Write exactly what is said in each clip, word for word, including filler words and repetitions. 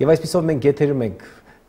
Եվ այսպիսով մենք եթերում ենք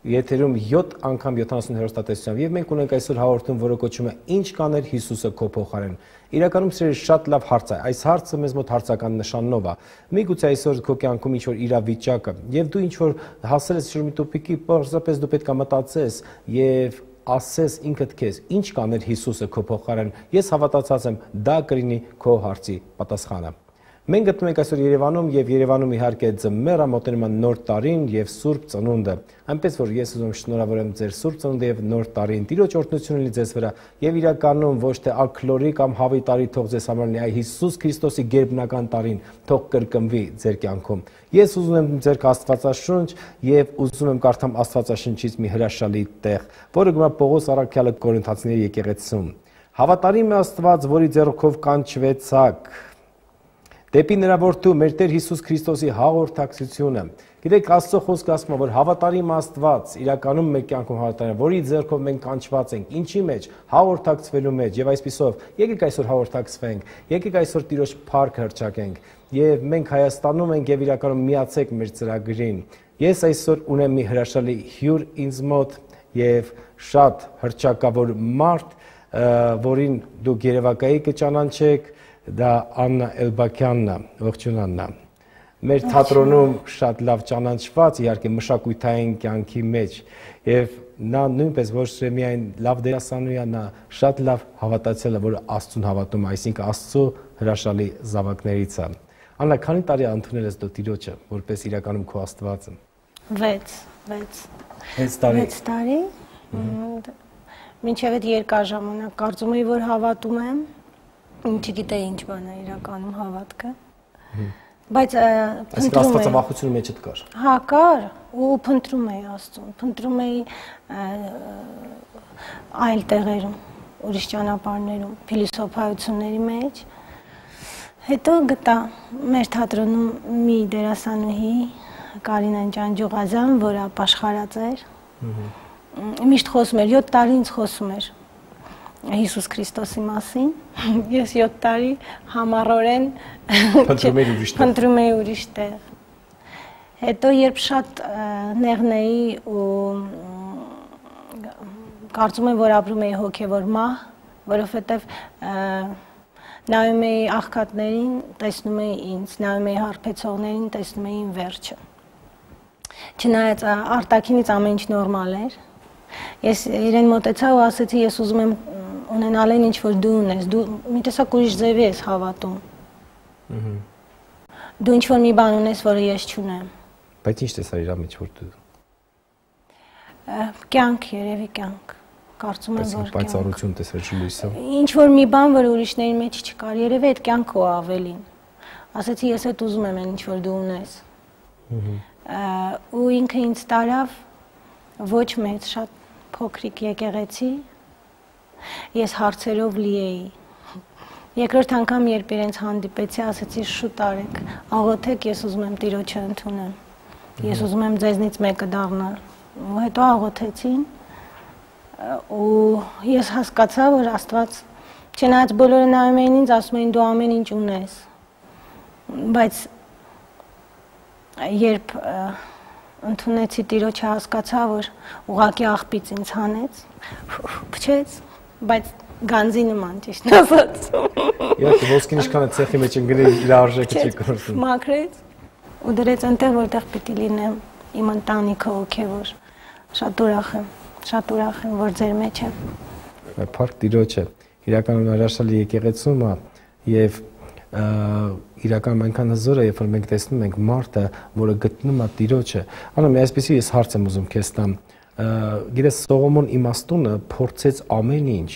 եթերում յոթ անգամ յոթանասուն հեռուստատեսությամբ եւ մենք ունենք այսօր հաղորդում, որը կոչվում է Ինչ կաներ Հիսուսը քո փոխարեն։ Իրականում սիրելի շատ լավ հարց է։ Այս հարցը մեզ մոտ հարցական նշանով է։ Միգուցե այսօր քո կյանքում ինչ որ իրավիճակը եւ դու ինչ որ հասել ես շուրջ մի տոպիկի, պարզապես դու պետք է մտածես եւ ասես ինքդ քեզ, ինչ կաներ Հիսուսը քո փոխարեն։ Ես հավատացած եմ, դա կլինի քո հարցի պատասխանը։ Մենք գտնվում ենք այսօր Երևանում եւ Երևանում իհարկե ձմեռ է, մոտենում է նոր տարին եւ Սուրբ Ծնունդը։ Այնպես որ ես ուզում եմ շնորհավորեմ ձեր Սուրբ Ծնունդը եւ նոր տարին։ Տիրոջ օրհնությունը լինի ձեզ վրա եւ իրականում ոչ թե ակլորի կամ հավի տարի թող ձեզ համար լինի, այլ Հիսուս Քրիստոսի գերբնական տարին թող կրկնվի ձեր կյանքում։ Ես ուզում եմ ձեր Աստվածաշունչ եւ ուզում եմ կարդամ Աստվածաշնչից մի հրաշալի տեղ, որը գտնվում է Պողոս առաքյալը Կորինթացիների եկեղեցում։ Հավատարիմ է Աստված, որի ձեռքով կանչվեցաք դեպի նրա որդու մեր Տեր Հիսուս Քրիստոսի հաղորդակցությունը։ Գիտեք, Աստծո խոսքը ասում է, որ հավատարիմ Աստված իրականում մեր կյանքում հավատարիմ, որի ձեռքով մենք կանչված ենք, ինչի մեջ, հաղորդակցվելու մեջ, եւ այսպիսով եկեք այսօր հաղորդակցվենք, եկեք այսօր Տիրոջ փառք հռչակենք, եւ մենք Հայաստանում ենք եւ իրականում միացեք մեր ծրագրին։ Ես այսօր ունեմ մի հրաշալի հյուր ինձ մոտ եւ շատ հռչակավոր մարդ, որին դուք երևակայի կճանաչեք, դա Աննա Էլբակյանն է, ողջույն Աննա։ Մեր թատրոնում շատ լավ ճանաչված, իհարկե մշակութային կյանքի մեջ, եւ նա նույնպես ոչ թե միայն լավ դերասանուհի է, նա շատ լավ հավատացել է, որ Աստծուն հավատում է, այսինքն Աստծո հրաշալի զավակներից է։ Աննա, քանի տարի ընդունել ես դու Տիրոջը, որպես իրականում քո Աստվածը։ վեց, վեց։ վեց տարի։ վեց տարի։ Մինչև այդ երկար ժամանակ կարծում էի, որ հավատում եմ։ Չգիտեի ինչ բան է իրականում հավատքը, բայց փնտրում էի։ Աստվածավախությունը մեջդ կար։ Հա, կար, ու փնտրում էի Աստծուն, փնտրում էի այլ տեղերում, ուրիշ ճանապարհներում, փիլիսոփայությունների մեջ։ Հետո գտա մեր թատրոնում մի դերասանուհի, Կարինա Ջանջուղազյան, որը ապաշխարած էր։ Միշտ խոսում էր, յոթ տարի ինձ խոսում էր Հիսուս Քրիստոսի մասին, ես յոթ տարի համառորեն փնտրում էի ուրիշ տեղ։ Հետո երբ շատ նեղն էի ու կարծում եմ, որ ապրում էի հոգևոր մահ, որովհետև նայում էի աղքատներին, տեսնում էի ինձ, նայում էի հարբեցողներին, տեսնում էի վերջը։ Չնայած արտաքինից ամեն ինչ նորմալ էր, ես իրեն մոտեցա ու ասեցի, ես ուզում եմ ունենալ են ինչ որ դու ունես, դու մի տեսակ ուրիշ ձևի ես հավատում։ Դու ինչ որ մի բան ունես, որը ես չունեմ։ Բայց ինչ տեսար իր մեջ որ դու։ Կյանք, երևի կյանք։ Կարծում եմ, որ պայծառություն տեսար լույսը։ Ինչ որ մի բան, որ ուրիշների մեջ չկար, երևի այդ կյանքը ու ավելին։ Ասեցի, ես այդ ուզում եմ ինչ որ դու ունես։ Ու ինքը ինձ տարավ ոչ մեծ, շատ փոքրիկ եկեղեցի, ես հարցերով լի էի։ Երկրորդ անգամ, երբ իրենց հանդիպեցի, ասեցի շուտ արեք, աղոթեք, ես ուզում եմ Տիրոջը ընդունեմ, ես ուզում եմ ձեզնից մեկը դառնալ։ Ու հետո աղոթեցին, ու ես հասկացա, որ Աստված, չնայած բոլորը նայում էին ինձ, ասում էին դու ամեն ինչ ունես, բայց երբ ընդունեցի Տիրոջը, հասկացա, որ ուղղակի աղբից ինձ հանեց, փչեց, բայց գանձի նման ճիշտ ասած։ Իհարկե ոսկին ինչքան է ցեխի մեջ ընկնի, իր արժեքը չի կորցնում։ Մաքրեց ու դրեց այնտեղ, որտեղ պիտի լինեմ, իմ ընտանիքը հոգևոր։ Շատ ուրախ եմ, շատ ուրախ եմ, որ ձեր մեջ եմ։ Փառք Տիրոջը, իրականում հրաշալի եկեղեցում է եւ իրականում այնքան հզոր է, երբ որ մենք տեսնում ենք մարդը, որը գտնում է Տիրոջը։ Անա, մի այսպեսի ես հարց եմ ուզում քեզ տամ։ Գիտես, Սողոմոն իմաստունը փորձեց ամեն ինչ։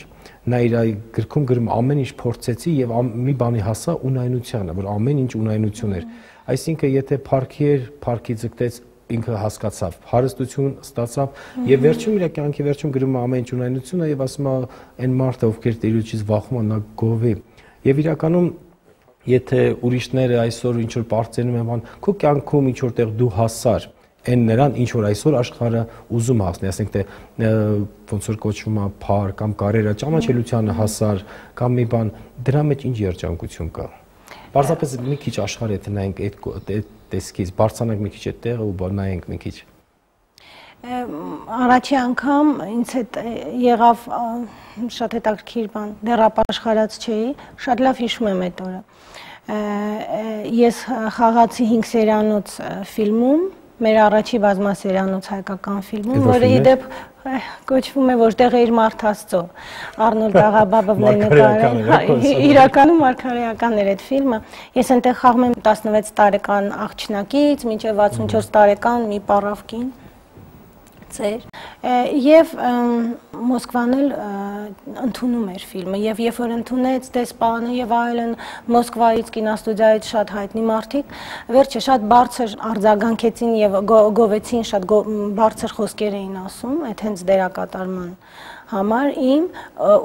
Նա իր գրքում գրում ամեն ինչ փորձեցի եւ մի բանի հասա ունայնությանը, որ ամեն ինչ ունայնություն էր։ Այսինքն, եթե փառքի էր, փառքի ձգտեց, ինքը հասկացավ, հարստություն ստացավ եւ վերջում իր կյանքի վերջում գրում է ամեն ինչ ունայնությունը եւ ասում է այն մարդը, ովքեր Տիրոջից վախում են, նա գովի։ Եվ իրականում եթե ուրիշները այսօր ինչ որ բարձրանում են բան, քո կյանքում ինչ որտեղ դու հասար, այն նրան ինչ որ այսօր աշխարհը ուզում հասնի, ասենք թե ոնց որ կոչվում է փառ կամ կարիերա, ճանաչելիությանը հասար կամ մի բան, դրա մեջ ինչ երջանկություն կա։ Պարզապես մի քիչ աշխարհ եթե նայենք այդ տեսքից, բարձրանանք մի քիչ այդ տեղը ու նայենք մի քիչ։ Առաջի անգամ ինձ հետ եղավ շատ հետաքրքիր բան, դեռ ապաշխարած չէի, շատ լավ հիշում եմ այդ օրը։ Ես խաղացի հինգ սերանոց ֆիլմում, մեր առաջի բազմասերանոց հայկական ֆիլմում, որը իդեպ կոչվում է որտեղ է իր մարդ Աստծո, Արնոլդ Աղաբաբովն է նկարել, իրականում մարգարեական էր այդ ֆիլմը։ Ես այնտեղ խաղում եմ տասնվեց տարեկան աղջնակից մինչև վաթսունչորս տարեկան մի պարավ կին ծեր եւ Մոսկվան էլ ընդունում էր ֆիլմը եւ երբ որ ընդունեց դեսպանը եւ այլն Մոսկվայից կինոստուդիայից շատ հայտնի մարդիկ վերջը շատ բարձր արձագանքեցին եւ գովեցին շատ բարձր խոսքեր էին ասում այդ հենց դերակատարման համար իմ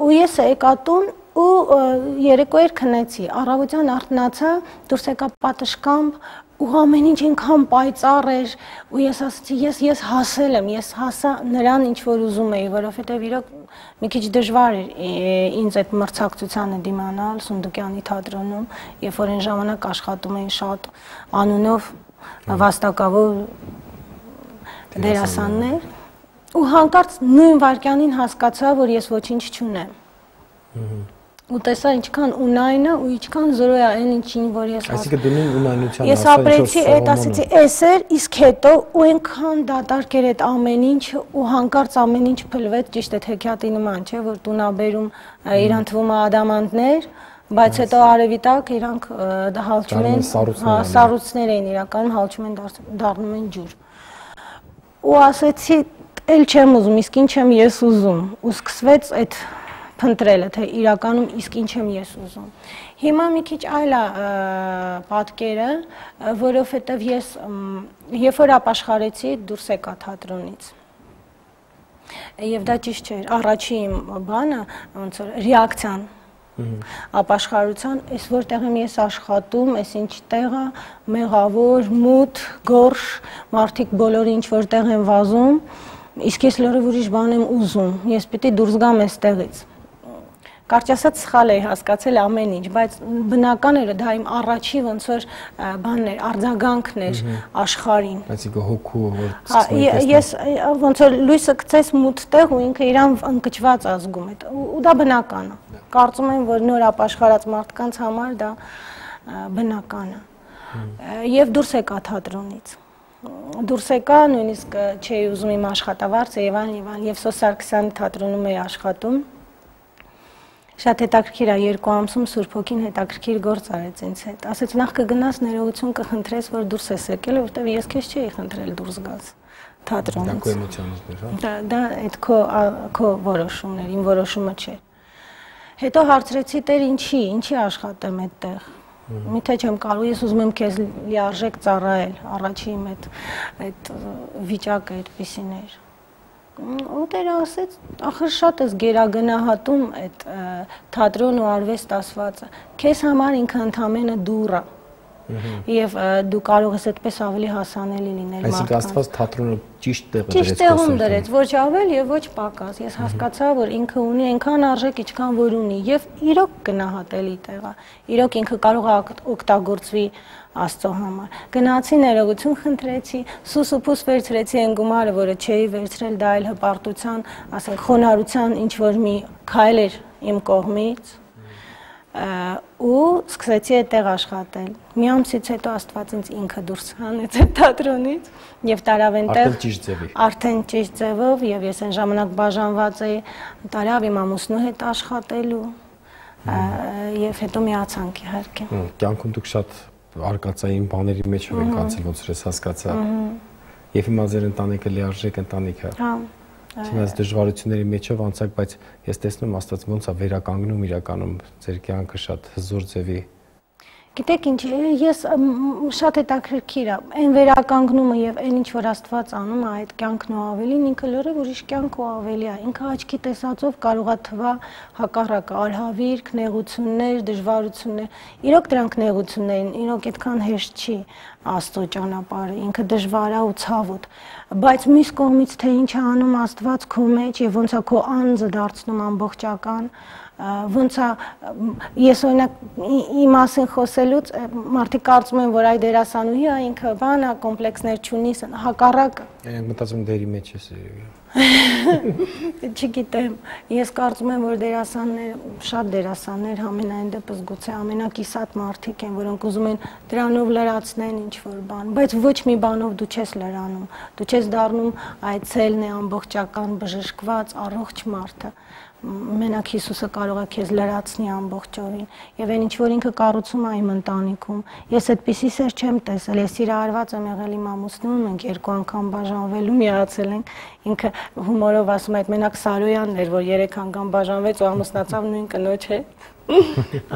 ու ես եկա տուն ու երեկո էր քնեցի առավոտյան արթնացա դուրս եկա պատշգամբ ու ամեն ինչ ինքան պայծառ էր ու ես ասացի ես ես հասել եմ ես հասա նրան ինչ որ ուզում էի որովհետև իրոք մի քիչ դժվար էր ինձ այդ մրցակցությանը դիմանալ Սունդուկյանի թատրոնում երբ որ այն ժամանակ աշխատում էին շատ անունով վաստակավոր դերասաններ ու հանկարծ նույն վայրկյանին հասկացա որ ես ոչինչ չունեմ ու տեսա ինչքան ունայնը ու ինչքան զրո է այն ինչին որ ես այսինքն դու նույն ունայնության ես ապրեցի այդ ասեցի էս էր իսկ հետո ու այնքան դատարկ էր այդ ամեն ինչը ու հանկարծ ամեն ինչ փլվեց ճիշտ է հեքիաթի նման չէ որ տունաբերում իրան թվում է ադամանդներ բայց հետո արևի տակ իրանք հալչում են սառույցներ էին իրականում հալչում են դառնում են ջուր ու ասեցի էլ չեմ ուզում իսկ ինչ եմ ես ուզում ու սկսվեց այդ փնտրելը թե իրականում իսկ ինչ եմ ես ուզում հիմա մի քիչ այլ է պատկերը որովհետև ես երբ որ ապաշխարեցի դուրս եկա թատրոնից եւ դա ճիշտ չէր առաջի իմ բանը ոնց որ ռեակցիան ապաշխարության այս որտեղ եմ ես աշխատում այս ինչ տեղը մեղավոր մութ գորշ մարդիկ բոլորը ինչ որտեղ են վազում իսկ ես լրիվ ուրիշ բան եմ ուզում ես պիտի դուրս գամ այստեղից Կարճ ասած սխալ էի հասկացել ամեն ինչ, բայց բնական էր դա իմ առաջի ոնց որ բանն էր, արձագանքն էր աշխարհին։ Այսինքն հոգու որ ես ոնց որ լույսը գցես մութ տեղ ու ինքը իրան ընկճված ազգում է։ Ու դա բնական է։ Կարծում եմ, որ նոր ապաշխարած մարդկանց համար դա բնական է։ Եվ դուրս եկա թատրոնից։ Դուրս եկա, նույնիսկ չէի ուզում իմ աշխատավարձը եւ այլն եւ այլն, եւ Սոս Սարգսյանի թատրոնում էի աշխատում։ Շատ հետաքրքիր է երկու ամսում Սուրբ Հոգին հետաքրքիր գործ արեց ինձ հետ։ Ասեց նախ կգնաս ներողություն կխնդրես, որ դուրս ես եկել, որտեղ ես քեզ չէի խնդրել դուրս գաս թատրոնից։ Դա քո էմոցիաներն էր, հա։ Դա դա այդ քո քո որոշումն էր, իմ որոշումը չէ։ Հետո հարցրեցի Տեր ինչի, ինչի աշխատեմ այդտեղ։ Միթե չեմ կարող, ես ուզում եմ քեզ լիարժեք ծառայել, առաջի իմ այդ այդ վիճակը այդպիսին էր։ Ու Տերը ասեց, ախր շատ ես գերագնահատում այդ թատրոն ու արվեստ ասվածը, քեզ համար ինքը ընդամենը դուռ է եւ դու կարող ես այդպես ավելի հասանելի լինել մարդկանց։ Այսինքն Աստված թատրոնը ճիշտ տեղը դրեց։ Ճիշտ տեղում դրեց, ոչ ավել եւ ոչ պակաս։ Ես հասկացա, որ ինքը ունի այնքան արժեք, ինչքան որ ունի եւ իրոք գնահատելի տեղ է։ Իրոք ինքը կարող է օգտագործվի Աստծո համար։ Գնացի ներողություն խնդրեցի, սուս ու փուս վերցրեցի այն գումարը, որը չէի վերցրել, դա այլ հպարտության, ասենք խոնարհության ինչ որ մի քայլ էր իմ կողմից ու սկսեցի այդտեղ աշխատել։ Մի ամսից հետո Աստված ինձ ինքը դուրս հանեց այդ թատրոնից եւ տարավ այնտեղ արդեն ճիշտ ձևի։ Արդեն ճիշտ ձևով եւ ես այն ժամանակ բաժանված էի, տարավ իմ ամուսնու հետ աշխատելու եւ հետո միացանք իհարկե։ Կյանքում դուք շատ արկածային բաների մեջ եք անցել, ոնց որ ես հասկացա։ Եվ հիմա ձեր ընտանիքը լիարժեք ընտանիք է։ Հա։ Չնայած դժվարությունների մեջով անցակ, բայց ես տեսնում Աստված ոնց է վերականգնում իրականում ձեր կյանքը շատ հզոր ձևի։ Գիտեք ինչ, ես շատ հետաքրքիր է, այն վերականգնումը եւ այն ինչ որ Աստված անում է այդ կյանքն ու ավելին, ինքը լրիվ ուրիշ կյանք ու ավելի է։ Ինքը աչքի տեսածով կարող է թվա հակառակը, արհավիրք, նեղություններ, դժվարություններ։ Իրոք դրանք նեղություններ են, իրոք այդքան հեշտ չի Աստծո ճանապարհը, ինքը դժվար է ու ցավոտ։ Բայց մյուս կողմից թե ինչ է անում Աստված քո մեջ եւ ոնց է քո անձը դարձնում ամբողջական, ոնց է ես օրինակ իմ մասին խոսելուց մարդիկ կարծում են, որ այ դերասանուհի է, ինքը բան է, կոմպլեքսներ չունի, հակառակը։ Այն մտածում դերի մեջ ես։ Չգիտեմ, ես կարծում եմ, որ դերասաններ, շատ դերասաններ համենայն դեպս գուցե ամենակիսատ մարդիկ են, որոնք ուզում են դրանով լրացնեն ինչ-որ բան, բայց ոչ մի բանով դու չես լրանում, դու չես դառնում այդ ցելն է ամբողջական բժշկված առողջ մարդը։ Մենակ Հիսուսը կարող է քեզ լրացնի ամբողջովին եւ այն ինչ որ ինքը կառուցում է իմ ընտանիքում ես այդպիսի սեր չեմ տեսել ես իրարված եմ եղել իմ ամուսնուն մենք երկու անգամ բաժանվելու միացել ենք ինքը հումորով ասում է այդ մենակ Սարոյանն էր որ երեք անգամ բաժանվեց ու ամուսնացավ նույն կնոջ հետ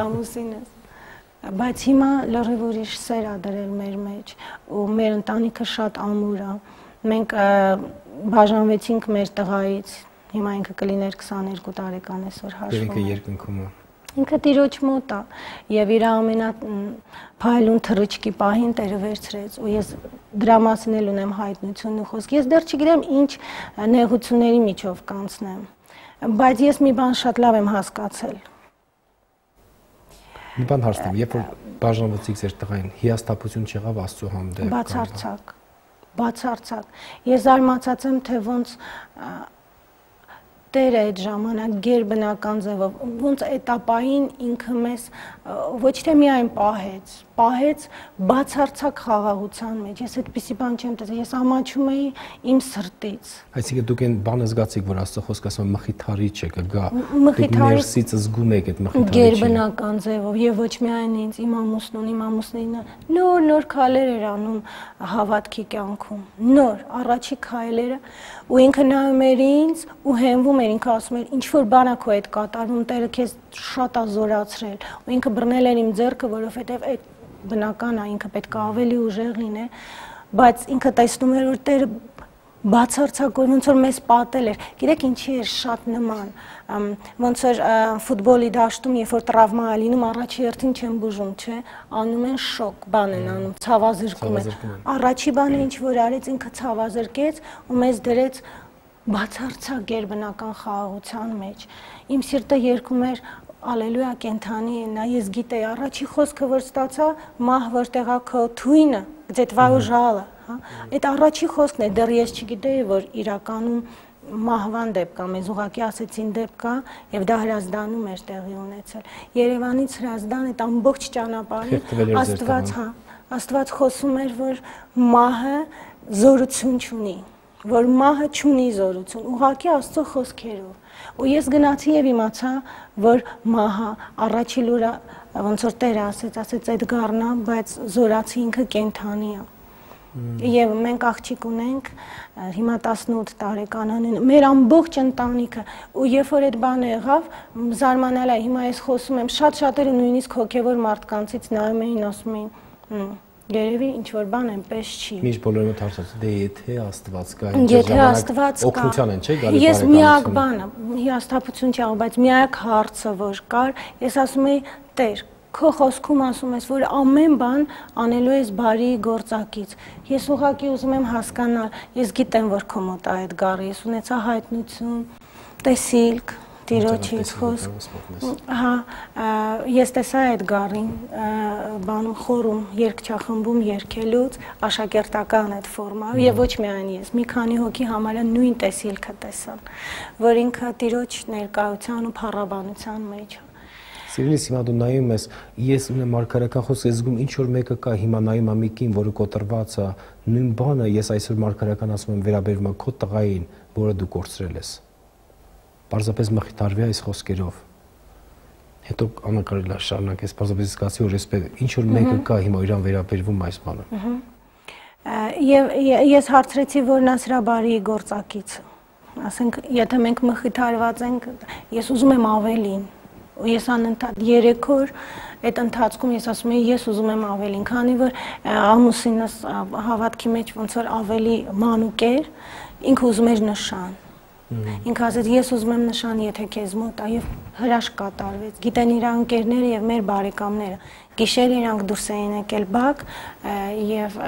ամուսինս բայց հիմա լրիվ ուրիշ սեր ա դրել մեր մեջ ու մեր ընտանիքը շատ ամուր է մենք բաժանվեցինք մեր տղայից Հիմա ինքը կլիներ քսաներկու տարեկան այսօր հաշվում։ Ինքը երկնքում է։ Ինքը Տիրոջ մոտ է եւ իր ամենա փայլուն թռիչքի պահին Տերը վերցրեց ու ես դրա մասին էլ ունեմ հայտնություն ու խոսք։ Ես դեռ չգիտեմ ինչ նեղությունների միջով կանցնեմ, բայց ես մի բան շատ լավ եմ հասկացել։ Մի բան հարցնեմ, երբ որ բաժանվեցիք ձեր տղային, հիասթափություն չեղավ Աստծո հանդեպ։ Բացարձակ։ Բացարձակ։ Ես զարմացած եմ, թե ոնց Տերը այդ ժամանակ գերբնական ձևով ոնց էտապային ինքը մեզ ոչ թե միայն պահեց, պահեց բացարձակ խաղաղության մեջ։ Ես այդպիսի բան չեմ տեսել, ես ամաչում էի իմ սրտից։ Այսինքն դուք այն բանը զգացիք, որ Աստծո խոսքը ասում է մխիթարիչ է կգա։ Դուք ներսից զգում եք այդ մխիթարիչը։ Գերբնական ձևով եւ ոչ միայն ինձ, իմ ամուսնուն, իմ ամուսնինը նոր նոր քայլեր էր անում հավատքի կյանքում։ Նոր առաջի քայլերը ու ինքը նայում էր ինձ ու հենվում էր ինքը ասում էր ինչ որ բան է քո հետ կատարվում Տերը քեզ շատ է զորացրել ու ինքը բռնել էր իմ ձեռքը որովհետև այդ բնական է ինքը պետք է ավելի ուժեղ լիներ բայց ինքը տեսնում էր որ Տերը բացարձակորեն ոնց որ մեզ պատել էր գիտեք ինչի էր շատ նման ոնց որ ֆուտբոլի դաշտում երբ որ տրավմա է լինում առաջի հերթին չեն բուժում չէ անում են շոկ բան են անում ցավազրկում են առաջի բանը ինչ որ արեց ինքը ցավազրկեց ու մեզ դրեց բացարձակ գերբնական խաղաղության մեջ իմ սիրտը երգում էր ալելույա կենթանի է նա ես գիտեի առաջի խոսքը որ ստացա մահ որտեղ է քո թույնը где твое жало հա այդ առաջի խոսքն է դեռ ես չգիտեի որ իրականում մահվան դեպք կա մեզ ուղղակի ասեցին դեպք կա եւ դա հրազդանում էր տեղի ունեցել Երևանից հրազդան այդ ամբողջ ճանապարհին Աստված հա Աստված խոսում էր որ մահը զորություն չունի որ մահը չունի զորություն, ուղղակի Աստծո խոսքերով։ Ու ես գնացի եւ իմացա, որ մահը առաջի լուրը ոնց որ Տերը ասեց, ասեց այդ գառնա, բայց զորացի ինքը կենթանի է։ Եվ մենք աղջիկ ունենք, հիմա տասնութ տարեկան են, մեր ամբողջ ընտանիքը, ու երբ որ այդ բանը եղավ, զարմանալ է, հիմա ես խոսում եմ, շատ շատերը նույնիսկ հոգևոր մարդկանցից նայում էին, ասում էին Երևի ինչ որ բան այնպես չի։ Միշտ բոլորը հարցած դե եթե Աստված կա, եթե Աստված կա, օգնության են, չէ՞ գալի բարեկամություն։ Ես միակ բանը, հիասթափություն չի աղ, բայց միակ հարցը որ կար, ես ասում եի Տեր, քո խոսքում ասում ես, որ ամեն բան անելու ես բարի գործակից։ Ես ուղղակի ուզում եմ հասկանալ, ես գիտեմ, որ քո մոտ է այդ գառը, ես ունեցա հայտնություն, տեսիլք Տիրոջից խոսք, հա, ես տեսա այդ գառին, բանում խորում, երգչախմբում երգելուց, աշակերտական այդ ֆորմա, եւ ոչ միայն ես, մի քանի հոգի համարյա նույն տեսիլքը տեսան, որ ինքը Տիրոջ ներկայության ու փառաբանության մեջ է։ Սիրելիս, հիմա դու նայում ես, ես ունեմ մարգարեական խոսք, ես զգում ինչ որ մեկը կա, հիմա նայում եմ մեկին, որը կոտրված է, նույն բանը ես այսօր մարգարեական ասում եմ վերաբերում եմ քո տղային, որը դու կորցրել ես։ Պարզապես մխիթարվի այս խոսքերով։ Հետո անակարել է շարունակես, պարզապես զգացի, որ այսպես ինչ որ մեկը կա հիմա իրան վերաբերվում այս բանը։ Եվ ես հարցրեցի, որ նա սրա բարի գործակիցը։ Ասենք, եթե մենք մխիթարված ենք, ես ուզում եմ ավելին։ Ու ես անընդհատ երեք օր այդ ընթացքում ես ասում եի ես ուզում եմ ավելին, քանի որ ամուսինս հավատքի մեջ ոնց որ ավելի մանուկ էր, ինքը ուզում էր նշան։ Ինքը ասեց ես ուզում եմ նշան, եթե քեզ մոտ է, եւ հրաշք կատարվեց։ Գիտեն իր ընկերները եւ մեր բարեկամները։ Գիշեր իրանք դուրս էին եկել բակ եւ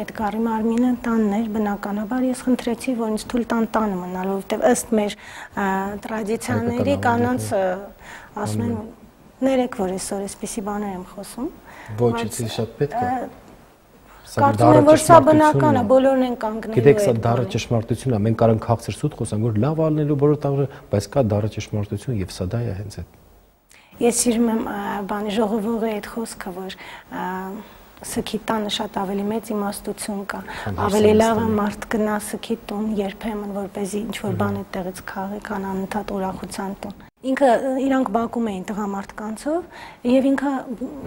Էդգարի մարմինը տանն էր, բնականաբար ես խնդրեցի, որ ինձ թույլ տան տանը մնալ, որովհետեւ ըստ մեր տրադիցիաների կանանց ասում են ներեք, որ այսօր այսպիսի բաներ եմ խոսում։ Ոչ, դա շատ պետք է։ Կարծում եմ, որ սա բնական է, բոլորն են կանգնելու։ Գիտեք, սա դառը ճշմարտություն է։ Մենք կարող քաղցր սուտ խոսանք, որ լավ ալնելու բոլոր տաղը, բայց կա դառը ճշմարտություն եւ սա դա է հենց այդ։ Ես սիրում եմ բանի ժողովողի այդ խոսքը, որ սքի տանը շատ ավելի մեծ իմաստություն կա։ Ավելի լավ է մարդ գնա սքի տուն երբեմն, որպեսզի ինչ-որ բան այդտեղից քաղի, քան անընդհատ ուրախության տուն։ Ինքը իրանք բակում էին տղամարդկանցով եւ ինքը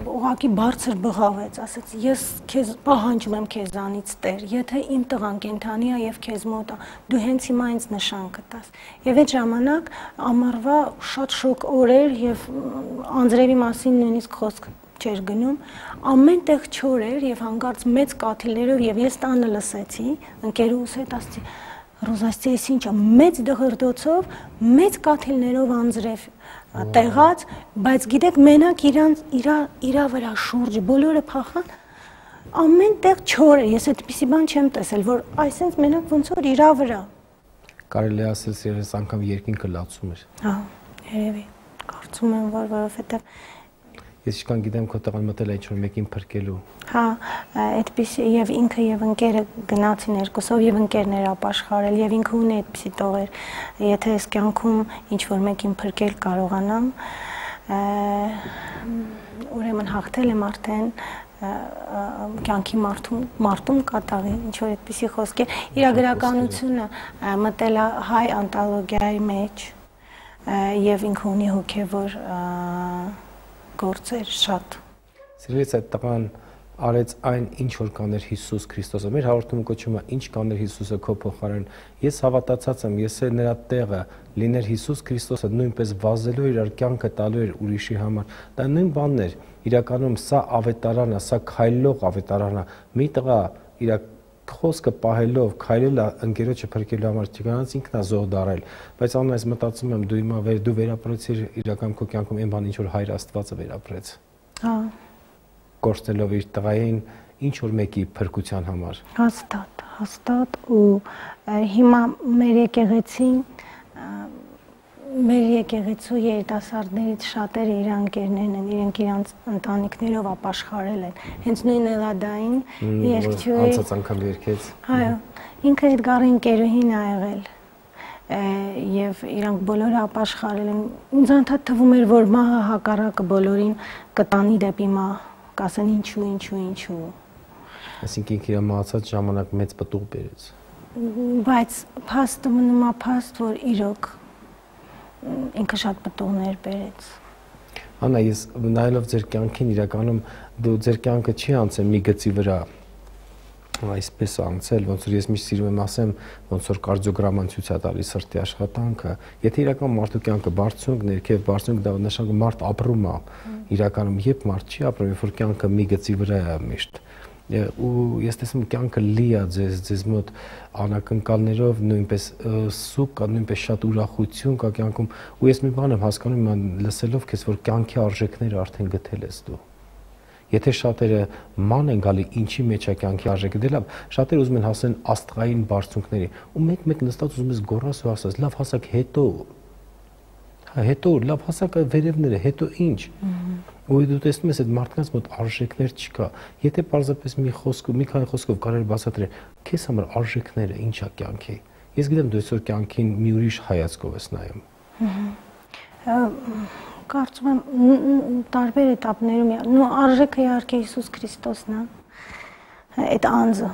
ուղղակի բարձր բղավեց, ասաց ես քեզ պահանջում եմ քեզանից Տեր, եթե իմ տղան կենթանի է եւ քեզ մոտ է, դու հենց հիմա ինձ նշան կտաս։ Եվ այդ ժամանակ ամառվա շատ շոկ օրեր եւ անձրևի մասին նույնիսկ խոսք չէր գնում, ամեն տեղ չոր էր եւ հանկարծ մեծ կաթիլներով եւ ես տանը լսեցի, ընկերուս հետ ասեցի Ռոզասի էս ինչա մեծ դղրդոցով, մեծ կաթիլներով անձրև տեղած, բայց գիտեք մենակ իրանց իրա իրա վրա շուրջը բոլորը փախան, ամեն տեղ չոր է, ես այդպիսի բան չեմ տեսել, որ այսինքն մենակ ոնց որ իրա վրա։ Կարելի է ասել սերես անգամ երկինքը լացում էր։ Հա, երևի, կարծում եմ, որ որովհետև Ես ինչքան գիտեմ, քո տղան մտել է ինչ-որ մեկին փրկելու։ Հա, այդպիսի եւ ինքը եւ ընկերը գնացին երկուսով եւ ընկերն էր ապաշխարել եւ ինքը ունի այդպիսի տողեր։ Եթե այս կյանքում ինչ-որ մեկին փրկել կարողանամ, ուրեմն հաղթել եմ արդեն կյանքի մարդում մարդում կատաղի ինչ որ այդպիսի խոսքեր իրագրականությունը մտել է հայ անտոլոգիայի մեջ եւ ինքը ունի հոգեվոր գործեր շատ։ Սիրելիս այդ տղան արեց այն ինչ որ կաներ Հիսուս Քրիստոսը։ Մեր հաղորդումը կոչվում է ինչ կաներ Հիսուսը քո փոխարեն։ Ես հավատացած եմ, ես էլ նրա տեղը լիներ Հիսուս Քրիստոսը նույնպես վազելու իր կյանքը տալու էր ուրիշի համար։ Դա նույն բանն էր։ Իրականում սա ավետարան է, սա քայլող ավետարան է։ Մի տղա իր խոսքը պահելով, քայլել ընկերոջը փրկելու համար չկանաց ինքն է զոհ դարել, բայց անուն այս մտածում եմ դու հիմա դու վերապրեցիր իրական քո կյանքում այն բան ինչ որ Հայր Աստվածը վերապրեց։ Հա։ Կորցնելով իր տղային ինչ որ մեկի փրկության համար։ Հաստատ, հաստատ ու հիմա մեր եկեղեցին մեր եկեղեցու երիտասարդներից շատերը իր ընկերներն են, իրենք իրանց ընտանիքներով ապաշխարել են։ Հենց նույն Էլադային երգչուհի անցած անգամ երգեց։ Այո, ինքը Էդգարի ընկերուհին ա եղել։ Եվ իրանք բոլորը ապաշխարել են։ Ինձ անդադ թվում էր, որ մահը հակառակը բոլորին կտանի դեպի մահ, կասեն ինչու, ինչու, ինչու։ Այսինքն ինքը իր մահացած ժամանակ մեծ պտուղ բերեց։ Բայց փաստը մնում է փաստ, որ իրոք ինքը շատ պտուղներ բերեց։ Անա, ես նայելով ձեր կյանքին իրականում դու ձեր կյանքը չի անցել մի գծի վրա այսպես անցել, ոնց որ ես միշտ սիրում եմ ասեմ, ոնց որ կարդիոգրաման ցույց է տալիս սրտի աշխատանքը։ Եթե իրական մարդու կյանքը բարձունք, ներքև բարձունք, դա նշանակում մարդ ապրում է։ Իրականում երբ մարդ չի ապրում, երբ որ կյանքը մի գծի վրա է միշտ։ Ու ես տեսնում կյանքը լի է ձեզ, ձեզ մոտ անակնկալներով նույնպես սուկ կա, նույնպես շատ ուրախություն կա կյանքում ու ես մի բան եմ հասկանում լսելով քեզ, որ կյանքի արժեքները արդեն գտել ես դու։ Եթե շատերը ման են գալի ինչի մեջ է կյանքի արժեքը, դե լավ, շատերը ուզում են հասնել աստղային բարձունքների ու մեկ-մեկ նստած ուզում ես գոռաս ու ասած, լավ հասակ հետո, հա հետո լավ հասակ վերևները, հետո ինչ։ Ու դու տեսնում ես այդ մարդկանց մոտ արժեքներ չկա։ Եթե պարզապես մի խոսք, մի քանի խոսքով կարելի բացատրել, քեզ համար արժեքները ինչ է կյանքի։ Ես գիտեմ դու այսօր կյանքին մի ուրիշ հայացքով ես նայում։ Կարծում եմ տարբեր էտապներում նո արժեքը իհարկե Հիսուս Քրիստոսն է։ Այդ անձը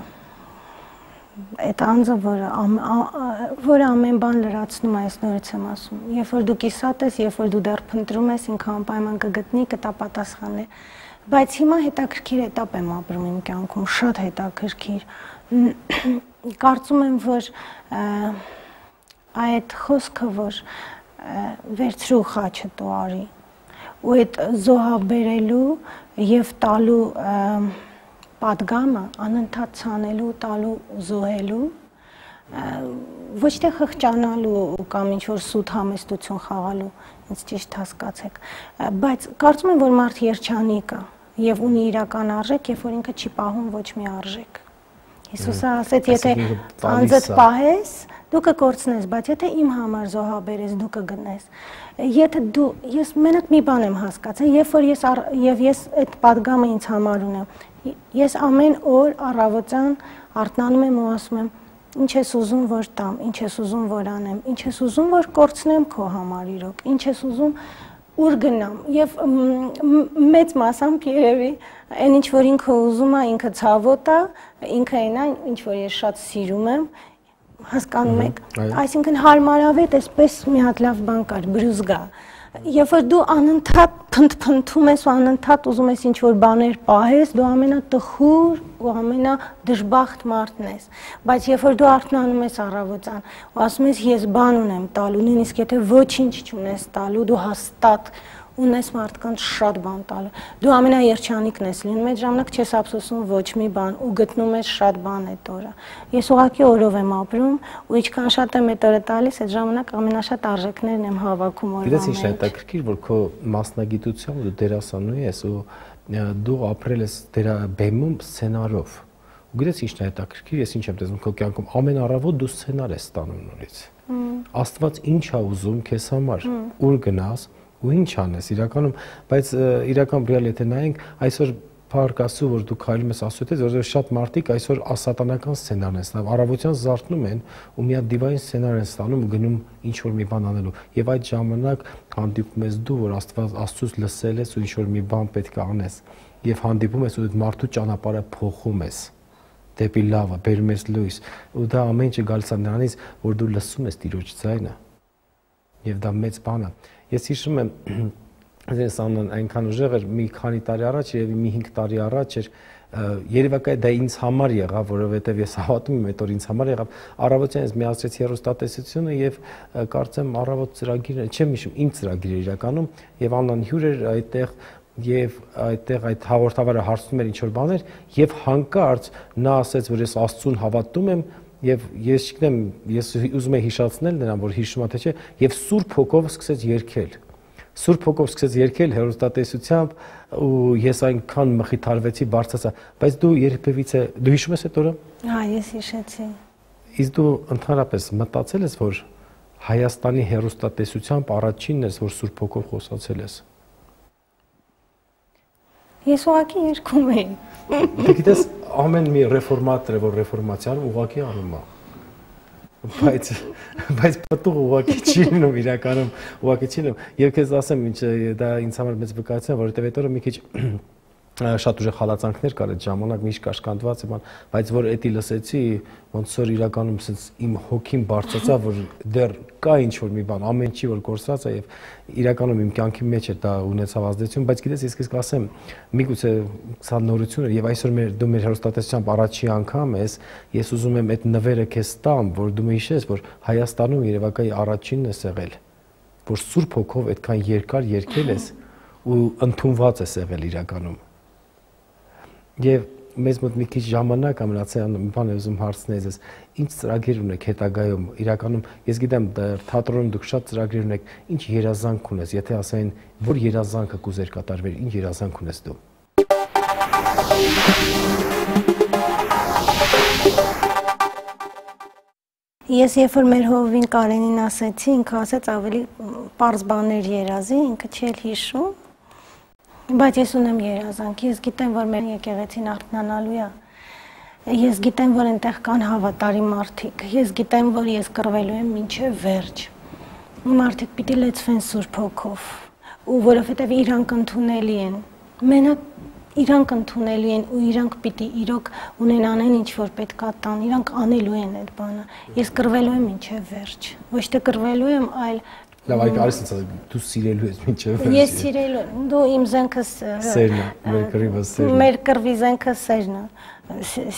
այդ անձը, որը որը ամեն բան լրացնում է, ես նորից եմ ասում։ Երբ որ դու կիսատ ես, երբ որ դու դեռ փնտրում ես, ինքը անպայման կգտնի, կտա պատասխաններ։ Բայց հիմա հետաքրքիր էտապ եմ ապրում իմ կյանքում, շատ հետաքրքիր։ Կարծում եմ, որ այդ խոսքը, որ վերցրու խաչը տու արի, ու այդ զոհաբերելու եւ տալու պատգամը անընդհատ ցանելու, տալու, զոհելու ոչ թե խղճանալու կամ ինչ-որ սուտ համեստություն խաղալու, ինձ ճիշտ հասկացեք, բայց կարծում եմ, որ մարդ երջանիկ է եւ ունի իրական արժեք, երբ որ ինքը չի պահում ոչ մի արժեք։ Հիսուսը ասեց, եթե անձդ պահես, դու կկորցնես, բայց եթե իմ համար զոհաբերես, դու կգնես։ Եթե դու, ես մենակ մի բան եմ հասկացել, երբ որ ես եւ ես այդ падգամը ինձ համար ունեմ, ես ամեն օր առավոտյան արթնանում եմ ու ասում եմ, ինչ ես ուզում որ տամ, ինչ ես ուզում որ անեմ, ինչ ես ուզում որ կորցնեմ քո համար իրոք, ինչ ես ուզում ուր գնամ եւ մեծ մասամբ երևի այն ինչ որ ինքը ուզում է, ինքը ցավոտ է, ինքը այն է, ինչ որ ես շատ սիրում եմ, հասկանում եք, այսինքն հարմարավետ էսպես մի հատ լավ բան կար, բրուզգա։ Երբ որ դու անընդհատ փնթփնթում ես ու անընդհատ ուզում ես ինչ-որ բաներ պահես, դու ամենատխուր ու ամենադժբախտ մարդն ես։ Բայց երբ որ դու արթնանում ես առավոտյան ու ասում ես ես բան ունեմ տալու, նույնիսկ եթե ոչինչ չունես տալու, դու հաստատ ունես մարդկանց շատ բան տալու։ Դու ամենաերջանիկն ես լինում, այդ ժամանակ չես ափսոսում ոչ մի բան ու գտնում ես շատ բան այդ օրը։ Ես ուղղակի օրով եմ ապրում ու ինչքան շատ եմ այդ օրը տալիս, այդ ժամանակ ամենաշատ արժեքներն եմ հավաքում օրվա մեջ։ Գիտես ինչ է հետաքրքիր, որ քո մասնագիտությամբ դու դերասանուհի ես ու դու ապրել ես դերա բեմում սցենարով։ Ու գիտես ինչն է հետաքրքիր, ես ինչ եմ տեսնում քո կյանքում, ամեն առավոտ դու սցենար ես ստանում նորից։ Աստված ինչ է ուզում քեզ համար, ուր գնաս ու ինչ անես իրականում, բայց իրական բրիալ եթե նայենք, այսօր փառք Աստծո, որ դու քայլում ես Աստծո հետ, որովհետև շատ մարդիկ այսօր ասատանական սցենարն են ստանում, առավոտյան զարթնում են ու մի հատ դիվային սցենար են ստանում ու գնում ինչ որ մի բան անելու։ Եվ այդ ժամանակ հանդիպում ես դու, որ Աստված Աստծուց լսել ես ու ինչ որ մի բան պետք է անես, եւ հանդիպում ես ու այդ մարդու ճանապարհը փոխում ես դեպի լավը, բերում ես լույս, ու դա ամեն ինչը գալիս է նրանից, որ դու լսում ես Տիրոջ ձայնը։ Եվ դա մեծ բան է։ Ես հիշում եմ, ես անան այնքան ուժեղ էր, մի քանի տարի առաջ, երևի մի հինգ տարի առաջ էր, երևակայ դա ինձ համար եղավ, որովհետև ես հավատում եմ, այդ օր ինձ համար եղավ, առավոտյան ես միացրեցի հեռուստատեսությունը եւ կարծեմ առավոտ ծրագիրը, չեմ հիշում, իմ ծրագիրը իրականում, եւ անան հյուր էր այդտեղ եւ այդտեղ այդ հաղորդավարը հարցնում էր ինչ որ բաներ եւ հանկարծ նա ասեց, որ ես Աստծուն հավատում եմ եւ ես չգիտեմ, ես ուզում եմ հիշացնել նրան, որ հիշում է թե չէ, եւ Սուրբ Հոգով սկսեց երգել։ Սուրբ Հոգով սկսեց երգել հեռուստատեսությամբ ու ես այնքան մխիթարվեցի, բարձրացա, բայց դու երբևիցե դու հիշում ես այդ օրը։ Հա, ես հիշեցի։ Իսկ դու ընդհանրապես մտածել ես, որ Հայաստանի հեռուստատեսությամբ առաջինն ես, որ Սուրբ Հոգով խոսացել ես։ Ես ուղղակի երգում էի։ Դե գիտես, ամեն մի ռեֆորմատորը, որ ռեֆորմացիան ուղղակի անում է։ Բայց բայց պատուղ ուղղակի չի լինում իրականում, ուղղակի չի լինում։ Եվ քեզ ասեմ, ինչ դա ինձ համար մեծ վկայություն է, որովհետև այդ օրը մի քիչ շատ ուժեղ հալածանքներ կար այդ ժամանակ, միշտ կաշկանդված եմ, բայց որ էդի լսեցի, ոնց որ իրականում sense իմ հոգին բարձրացա, որ դեռ կա ինչ որ մի բան, ամեն ինչի որ կորսած է եւ իրականում իմ կյանքի մեջ է դա ունեցավ ազդեցություն, բայց գիտես ես քեզ կասեմ, միգուցե սա նորություն է եւ այսօր մեր դու մեր հեռուստատեսությամբ առաջի անգամ ես, ես ուզում եմ այդ նվերը քեզ տամ, որ դու հիշես, որ Հայաստանում երևակայի առաջինն ես եղել, որ Սուրբ Հոգով այդքան երկար երգել ես ու ընդունված ես եղել իրականում։ Եվ մեզ մոտ մի քիչ ժամանակ է մնացել, մի բան եմ ուզում հարցնել ես, ինչ ծրագիր ունեք հետագայում, իրականում ես գիտեմ թատրոնում դուք շատ ծրագրեր ունեք, ինչ երազանք ունես, եթե ասային, որ երազանքը կուզեր կատարվեր, ինչ երազանք ունես դու։ Ես երբ որ մեր հովին Կարենին ասեցի, ինքը ասեց ավելի պարզ բաներ երազի, ինքը չի էլ հիշում։ Բայց ես ունեմ երազանք, ես գիտեմ, որ մեր եկեղեցին արթնանալու է, ես գիտեմ, որ այնտեղ կան հավատարիմ մարդիկ, ես գիտեմ, որ ես կռվելու եմ մինչև վերջ, մարդիկ պիտի լեցվեն Սուրբ Հոգով, ու որովհետև իրանք ընդունելի են, մենակ իրանք ընդունելի են ու իրանք պիտի իրոք ունենան ինչ որ պետք է տան, իրանք անելու են այդ բանը, ես կռվելու եմ մինչև վերջ, ոչ թե կռվելու եմ, այլ Լավ, այ կարես ինձ դու սիրելու ես մինչև վերջ։ Ես սիրելու եմ, դու իմ զենքը սերն է, մեր կռվի սերն է։ Մեր կռվի զենքը սերն է,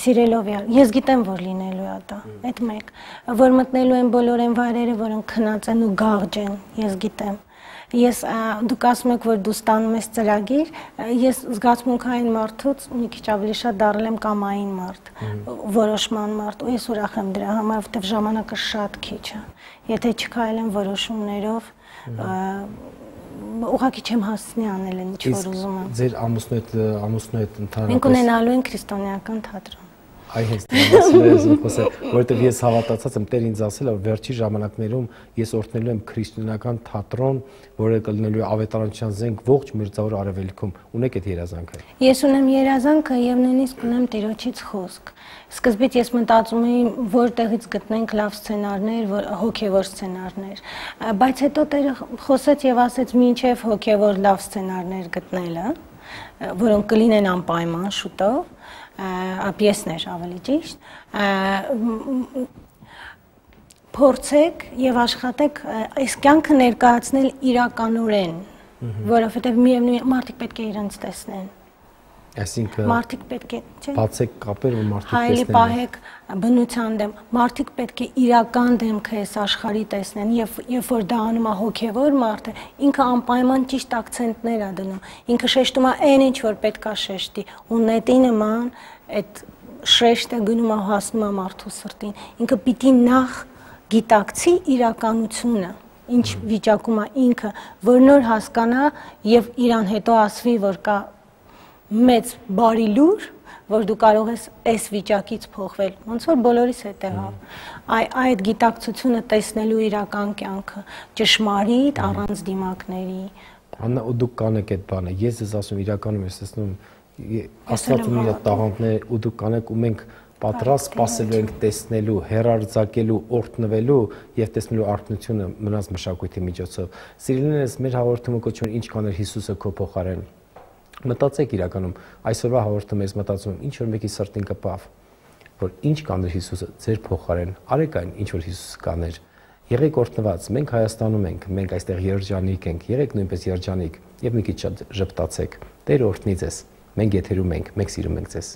սիրելով է։ Ես գիտեմ, որ լինելու է դա, այդ մեկ, որ մտնելու են բոլոր այն վայրերը, որոնք քնած են ու գաղջ են, ես գիտեմ։ Ես դուք ասում եք, որ դու ստանում ես ծրագիր, ես զգացմունքային մարդուց մի քիչ ավելի շատ դառել եմ կամային մարդ, որոշման մարդ, ու ես ուրախ եմ դրա համար, որովհետև ժամանակը շատ քիչ է։ Եթե չքայլեմ որոշումներով, ուղղակի չեմ հասցնի անել այն ինչ որ ուզում եմ։ Ձեր ամուսնու հետ ամուսնու հետ ընդհանրապես մենք ունենալու ենք քրիստոնեական թատրոն։ Այ հենց դրանից եմ խոսել, որովհետև ես հավատացած եմ, Տեր ինձ ասել է, որ վերջի ժամանակներում ես օրհնելու եմ քրիստոնեական թատրոն, որը կլինելու է ավետարանչության զենք ողջ մերձավոր արևելքում։ Ունեք այդ երազանքը։ Ես ունեմ երազանքը եւ նույնիսկ ունեմ Տիրոջից խոսք։ Սկզբից ես մտածում էի, որտեղից գտնենք լավ սցենարներ, հոգեվոր սցենարներ, բայց հետո Տերը խոսեց եւ ասեց՝ «Մինչեւ հոգեվոր լավ սցենարներ գտնելը, որոնք կլինեն անպայման շուտով, պիեսներ ավելի ճիշտ, փորձեք եւ աշխատեք այս կյանքը ներկայացնել իրականորեն, որովհետեւ միևնույն մարդիկ պետք է իրենց տեսնեն։ Այսինքն մարդիկ պետք է, չէ՞, բացեք կապեր ու մարդիկ տեսնեն։ Հայելի պահեք բնության դեմ, մարդիկ պետք է իրական դեմքը այս աշխարհի տեսնեն, եւ երբ որ դա անում է հոգեվոր մարդը, ինքը անպայման ճիշտ ակցենտներ է դնում, ինքը շեշտում է այն ինչ որ պետք է շեշտի, ու նետի նման այդ շեշտը գնում է հասնում է մարդու սրտին, ինքը պիտի նախ գիտակցի իրականությունը, ինչ վիճակում է ինքը, որ նոր հասկանա եւ իրան հետո ասվի, որ կա մեծ բարի լուր, որ դու կարող ես այս վիճակից փոխվել, ոնց որ բոլորիս հետ եղավ։ Այդ գիտակցությունը տեսնելու իրական կյանքը, ճշմարիտ առանց դիմակների։ Աննա, ու դուք կանեք այդ բանը, ես ձեզ ասում իրականում ես տեսնում, Աստված ունի իր տաղանդներ, ու դուք կանեք, ու մենք պատրաստ սպասելու ենք տեսնելու, հեռարձակելու, օրհնվելու եւ տեսնելու արթնությունը մնաց մշակույթի միջոցով։ Սիրելիներս, մեր հաղորդումը կոչվում է «Ինչ կաներ Հիսուսը քո փոխարեն»։ Մտածեք իրականում, այսօրվա հաղորդումը ես մտածում եմ, ինչ որ մեկի սրտին կպավ, որ ինչ կաներ Հիսուսը ձեր փոխարեն, արեք այն, ինչ որ Հիսուսը կաներ։ Եղեք օրհնված, մենք Հայաստանում ենք, մենք այստեղ երջանիկ ենք, եղեք նույնպես երջանիկ եւ մի քիչ ժպտացեք։ Տեր օրհնի ձեզ։ Մենք եթերում ենք, մենք սիրում ենք ձեզ։